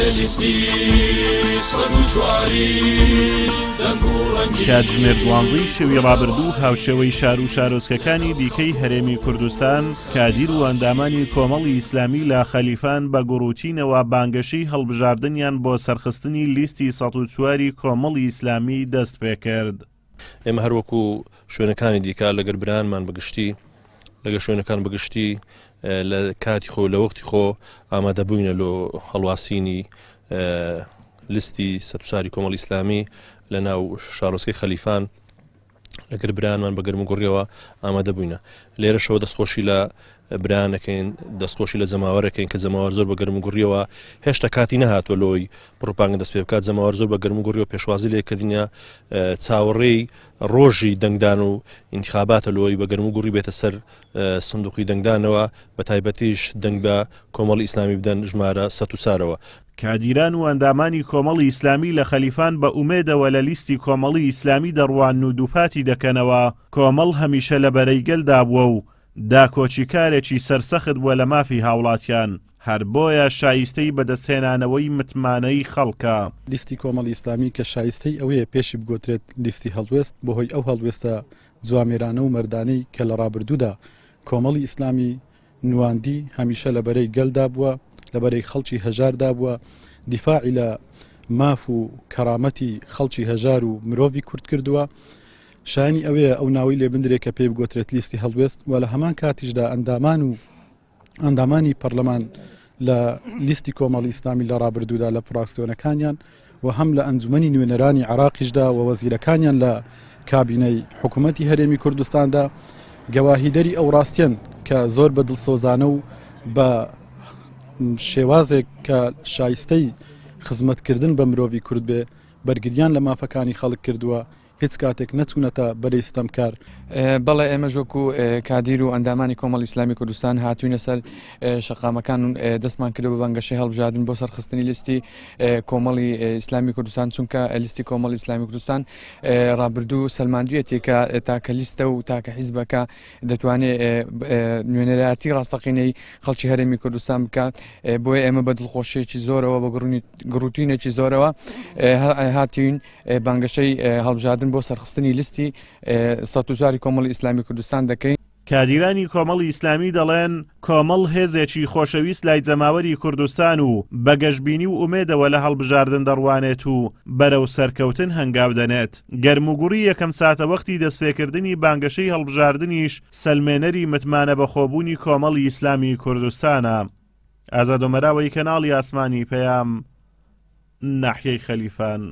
لە لیستی 104ی دەنگ و ڕەنگی. کاتژمێر دوانزەی شەوی ڕابردوو هاوشێوەی شار و شارۆچکەکانی دیکەی هەرێمی کوردستان، کادیر و ئەندامانی کۆمەڵی ئیسلامی لە خەلیفان بە گوڕوتینەوە بانگەشەی هەڵبژاردنیان بۆ سەرخستنی لیستی 104 ی کۆمەڵی ئیسلامی دەستپێکرد. ئێمە هەر وەکو شوێنەکانی دیکە لەگەر برایانمان بەگشتی لەگە شوێنەکان بەگشتی لە کاتی خۆ لە وەختی خۆ ئامادە بووینە لۆ هەڵواسینی لیستی سەتوساری کۆمەڵ ئیسلامی لە ناو شارۆچکەی خەلیفان لەگەر برایانمان بە گەرم و گوڕیەوە ئامادە بووینە لێرەشەوە دەستخۆشی لە برانەکەین دەستخۆشی لە جەماوەرەکەین کە جەماوەر زۆر بە گەرم و گوڕیەوە هێشتا کاتی نەهاتوە لۆی پڕوپاگەندە دەست پێ بکات جەماوەر زۆر بە گەرم و گوڕیەوە پێشوازی لێکردنە چاوەڕێی ڕۆژی دەنگدان و ئینتخاباتە لۆی بە گەرم و گوڕی بێتە سەر سندوقی دەنگدانەوە بە تایبەتیش دەنگ بە کۆمەڵی ئیسلامی بدەن ژمارە سەد و چارەوە. کادیران و ئەندامانی کۆمەڵی ئیسلامی لە خەلیفان بە ئومێدەوە لە لیستی کۆمەڵی ئیسلامی دەڕوانن و دووپاتی دەکەنەوە، کۆمەڵ هەمیشە لە بەرەی گەلدا بووە و داکۆکیکارێکی سەرسەخت بووە لە مافی هاوڵاتیان، هەر بۆیە شایستەی بەدەستهێنانەوەی متمانەی خەڵکە. لیستی کۆمەڵی ئیسلامی کە شایستەی ئەوەیە پێشی بگۆترێت لیستی هەڵوێست، بەهۆی ئەو هەڵوێستە جوامێرانە و مەردانەی کە لە ڕابردوودا کۆمەڵی ئیسلامی نواندی، هەمیشە لە بەرەی گەلدا بووە، لە بەرەی خەڵکی هەژاردا بووە، دیفاعی لە ماف و کەرامەتی خەڵکی هەژار و مرۆڤی کورد کردووە. شایانی ئەوەیە ئەو ناوەی لێ بندرێ کە پێی بگۆترێت لیستی هەڵوێست و لە هەمان کاتیشدا ئەندامان و ئەندامانی پەرلەمان لە لیستی کۆمەڵی ئیسلامی لە ڕابردوودا لە فراکسیۆنەکانیان و هەم لە ئەنجومەنی نوێنەرانی عێراقیشدا و وەزیرەکانیان لە کابینەی حکوومەتی هەرێمی کوردستاندا گەواهیدەری ئەو ڕاستیەن کە زۆر بە دڵسۆزانە و بە شێوازێک کە شایستەی خزمەتکردن بە مرۆڤی کورد بێ بەرگریان لە مافەکانی خەڵک کردووە هیچ کاتێک نەچوونەتە بەرەی ستەمکار. بەڵێ ئێمەش وەکو کادیر و ئەندامانی کۆمەڵی ئیسلامی کوردستان هاتووینە سەر شەقامەکان و دەستمان کردووە بە بانگەشەی هەڵبژاردن بۆ سەرخستنی لیستی کۆمەڵی ئیسلامی کوردستان چونکە لیستی کۆمەڵی ئیسلامی کوردستان ڕابردوو سەلماندویەتی کە تاکە لیستە و تاکە حیزبەکە دەتوانێت نوێنەرایەتی ڕاستەقینەی خەڵکی هەرێمی کوردستان بکات بۆیە ئێمە بە دڵخۆشیێکی زۆرەوە بە گڕوتینێکی زۆرەوە هاتوین بانگەشەی هەڵبژاردن بۆ سەرخستنی لیستی 104 کۆمەڵی ئیسلامی کوردستان دەکەین. کادیرانی کۆمەڵی ئیسلامی دەڵێن، کۆمەڵ هێزێکی خۆشەویست لای جەماوەری کوردستان و بە گەشبینی و ئومێدەوە لە هەڵبژاردن دەڕوانێت و بەرەو سەرکەوتن هەنگاو دەنێت. گەرموگوڕی یەکەم ساتەوەختی دەستپێکردنی بانگەشەی هەڵبژاردنیش سەلمێنەری متمانەبەخۆبوونی کۆمەڵی ئیسلامی کوردستانە. ئازاد ئۆمەراوەی کەناڵی ئاسمانی پەیام، ناحیەی خەلیفان.